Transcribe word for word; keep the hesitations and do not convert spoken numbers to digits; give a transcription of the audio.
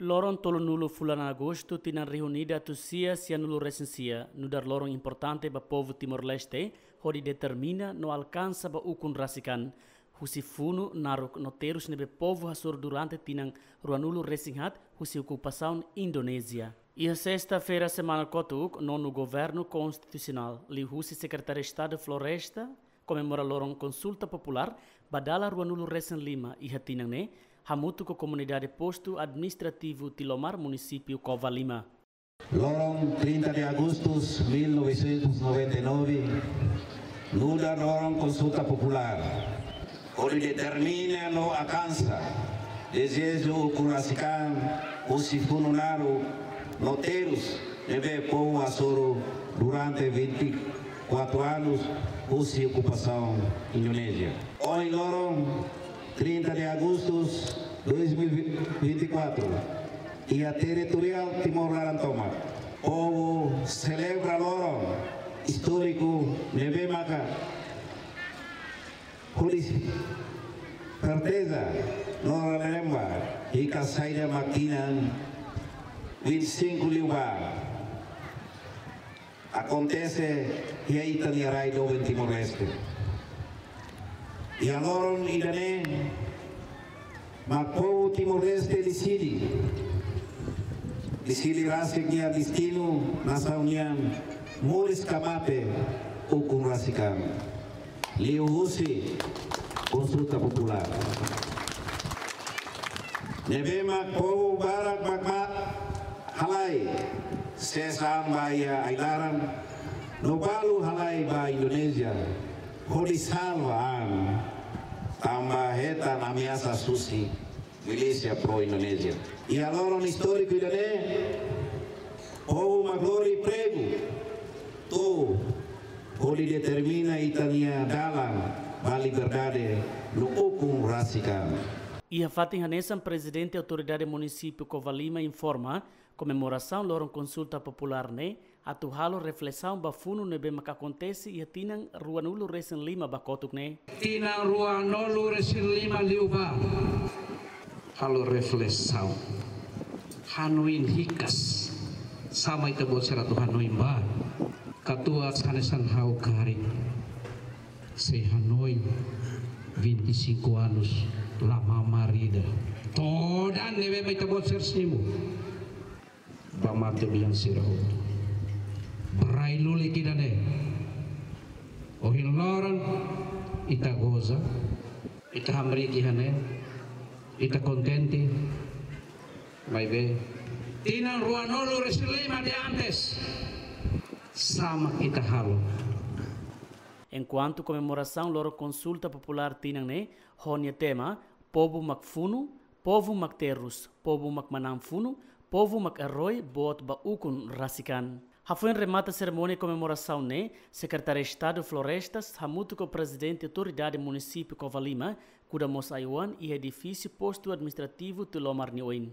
Loron tolunulu fulan Agostu tinan rihun ida atus sia sianulu resin sia, nu'udar loron importante ba povu Timor-Leste, hodi determina no alkansa ba ukun rasik an husi funu, naruk no terus ne'ebé povu hasoru durante tinan ruanulu resin haat husi okupasaun Indonézia. Iha sesta-feira semana kotuk, nonu Governu Konstitusionál, liuhusi Sekretáriu Estadu Floresta, komemora loron konsulta populár ba dala ruanulu resin lima iha tinan ne'e, hamutuk ho komunidade postu administrativu Tilomar, munisípiu Covalima. Loron trinta de agosto de mil novecentos e noventa e nove, nu'udar loron konsulta populár, hodi determina no alkansa dezeju ukun rasik an husi funu, naruk no terus ne'ebé povu hasoru durante vinte e quatro anos husi okupasaun Indonézia. Ohin loron trinta de agosto de dois mil e vinte e quatro, iha territoriál Timor laran tomak, povu selebra loron istóriku ne'ebé maka hodi serteza no relembra hikas saida mak tinan vinte e cinco liubá akontese iha ita-nia rai doben Timor-Leste. Iha loron ida-ne'e mak povu Timor-Leste deside, deside rasik nia destinu nasaun nian, moris ka mate, ukun rasik an, liuhusi konsulta populár. Ne'ebé mak povu barak mak ma halai ses an ba iha ai-laran, no balu halai ba Indonézia, hodi salva an, tanba hetan ameasa husi milísia pro-Indonézia. Iha loron istóriku ida-ne'e, povu mak lori pregu to'o hodi determina ita-nia dalan ba liberdade no ukun rasik an. Iha fatin hanesan, Prezidente Autoridade Munisípiu Covalima informa, komemorasaun loron konsulta populár ne'e atu halo reflesaun ba funu ne'ebé maka akontese iha tinan ruanulu resin lima ba kotuk ne'e. Tinan ruanulu resin lima liubá, halo reflesaun, hanoin hikas, sá mak ita-boot sira atu hanoin ba, katuas hanesan ha'u karik sei hanoin vinte e cinco anos la mamar ida. Todan ne'ebé mak ita-boot sira simu ba mate bian sira hotu. Ba rai lulik ida-ne'e, ohin loron ita goza, ita hamriik iha ne'e, ita kontente, maibé tinan ruanulu resin lima de antes, sá mak ita halo? Enkuantu komemorasaun loron konsulta populár tinan ne'e ho nia tema, Povu mak funu, povu mak terus, povu mak manán funu, povu mak eroi boot ba ukun rasik an. Hafoin remata serimónia komemorasaun ne'e, Sekretáriu Estadu Florestas hamutuk ho Prezidente Autoridade Munisípiu Covalima kuda mós ai-oan iha edifísiu Postu Administrativu Tilomar nia oin.